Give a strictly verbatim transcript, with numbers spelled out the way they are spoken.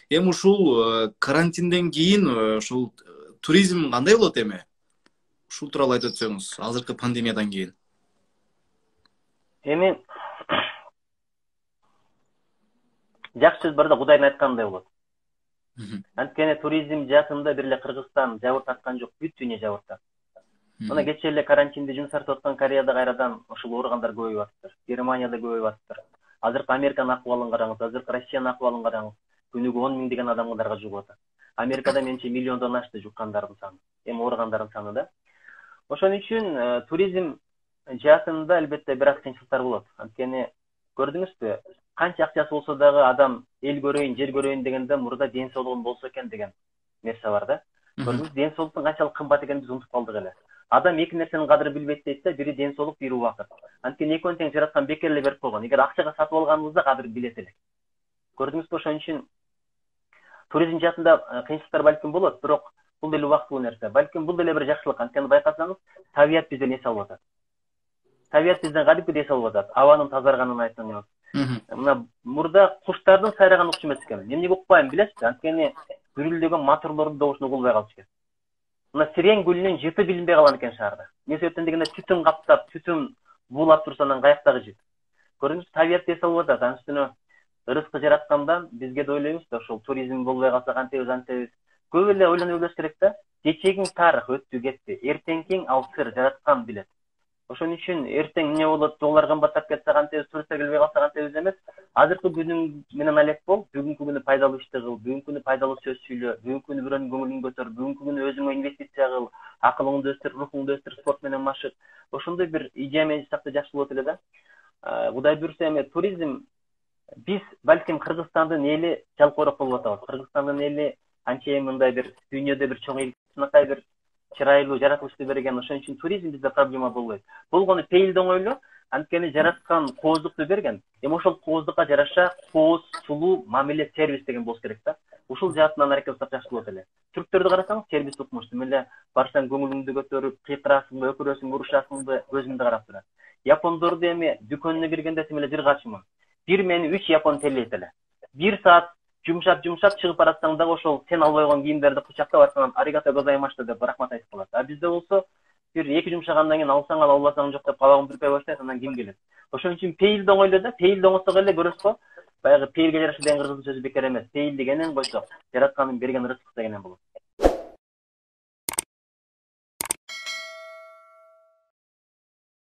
Эми ушул карантинден кийин ушул туризм кандай болот эми? Ушул тууралуу айтып өтсөңүз, азыркы пандемиядан кийин. Эми жакшы сөз бар да, Кудайдын айткандай болот. Анткени туризм жаатында бир эле Кыргызстан жабыр тарткан жок, бүт дүйнө жабыр тартты. Мына кечээ эле карантинде жумуш тартып аткан Кореяда кайрадан ушул ооругандар көбөйүп атыптыр. Германияда көбөйүп атыптыр. Азыркы Американын акыбалын караңыз, азыркы Россиянын акыбалын караңыз. Күнүгө он миңдеген адамдарга жугуп атат. Америкада менчи миллиондон ашты жуккандардын саны, эми ооругандардын саны да. Ошон үчүн туризм жаатында албетте бир аз кыйынчылыктар болот. Анткени көрдүңүзбү, канча акчасы болсо дагы адам эл көрөйүн, жер көрөйүн дегенде мурда ден соолугум болсо экен деген нерсе бар да. Көрдүңүз, ден соолуктун канчалык кымбат экенин биз унутуп калдык эле. Адам эки нерсенин кадырын билбейт дейт да, бири ден соолук, бири убакыт. Анткени экөөнү тең жараткан бекер эле берип койгон. Эгер акчага сатып алганыбызда кадырын билет элек. Көрдүңүзбү, ошон үчүн туризм жаатында кыйынчылыктар балким болот, бирок бул деле убактылуу нерсе. Балким бул деле бир жакшылык. Анткени байкасаңыз, табият бизден эс алып атат. Табият бизден кадимкидей эс алып атат. Абанын тазарганын айтыңыз. Мына мурда куштардын сайраганы укчу эмес экен. Эмнеге укпайм билесизби? Анткени гүрүлдөгөн моторлордун добушуна угулбай калчу экен. Мына сирен гүлүнүн жыты билинбей калган экен шаарда. Эмне себептен дегенде түтүн каптап, түтүн буулап турса анан каяктагы жыт. Көрдүңүз, табият эс алып атат. Анын үстүнө рызкы жараткандан бизге да ойлойбуз да, ошол туризм болбой калса кантебиз антебиз. Көп эле ойлонуп билиш керек да. Кечээкиң тарых өттү кетти. Эртеңкиң ал сыр жараткан билет. Ошон үчүн эртең эмне болот, доллар кымбаттап кетсе кантебиз, туристтер келбей калса кантебиз эмес. Азыркы күнүң менен алек бол, бүгүнкү күнү пайдалуу ишти кыл, бүгүнкү күнү пайдалуу сөз сүйлө, бүгүнкү күнү бирөөнүн көңүлүн көтөр, бүгүнкү күнү өзүңө инвестиция кыл, акылыңды өстүр, рухуңду өстүр, спорт менен машык. Ошондой бир идея менен жасакта жакшы болот эле да. Кудай буйрса эми туризм биз балким Кыргызстандын эли жалкоорок болуп атабыз. Кыргызстандын эли анчейин мындай бир дүйнөдө бир чоң элчинакай бир чырайлуу жаратылышты берген. Ошон үчүн туризм бизде проблема болбойт. Болгону пейилди оңойлуу, анткени жараткан кооздукту берген. Эми ошол кооздукка жараша кооз, сулуу, мамиле, сервис деген болуш керек да. Ушул жаатынан аракет кылсак жакшы болот эле. Түрктөрдү карасаңыз, сервис укмуш. Эле барсаң көңүлүңдү көтөрүп, кыйкырасыңбы, өкүрөсүңбү, урушасыңбы, көзүңдү карап турат. Япондорду эми дүкөнүнө киргенде тим эле бир качымын. Бир мени үч япон телейт эле. Бир саат жумшап жумшап чыгып баратсаң дагы ошол сен албай койгон кийимдерди кучактап аткандан аригато гозаймашта деп рахмат айтып калат. А бизде болсо бир эки жумшагандан кийин алсаң ал, албасаң жок деп кабагын бүркөй баштайт, анан ким келет? Ошон үчүн пейилди оңойлоо да, пейилди оңосок эле көрөсүз го. Баягы пейилге жараша деген кыргыз сөзү бекер эмес. Пейилди кенен койсок, жараткандын берген рызкысы кенен болот.